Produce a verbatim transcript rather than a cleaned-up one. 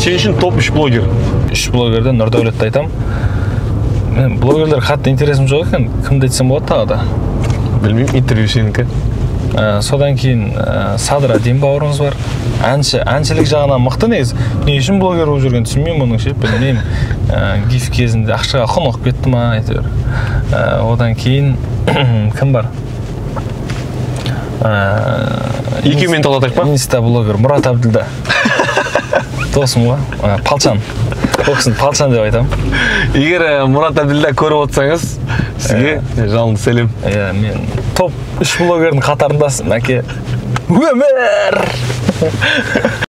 сен үчүн топ үч блогер? үч блогерден Нурдаулетти айтам. Мен блогерлер катты интересим жок экен. Кимди айтсам болот тагы да? Билбейм, интервью сеники. Содан кийин Садыр Адим бауырыңыз бар. Анчы, анчылык жагынан мыкты негизи. Эмне үчүн блогер болуп жүргөн түшүнбөйм мунуңчу. Билбейм. Гиф кезинде акчага конок кетти ма, айтыр. Одан кийин ким бар? эки минут алатак па? Инста блогер Мурат Абдилда. Досум го. Палчан. Оксын Палчан деп айтам. Эгер Мурат Абдилда көрүп отсаңыз, сизге жалынды селим. Э, мен топ үч блогердин катарындасың, аке. Өмөр!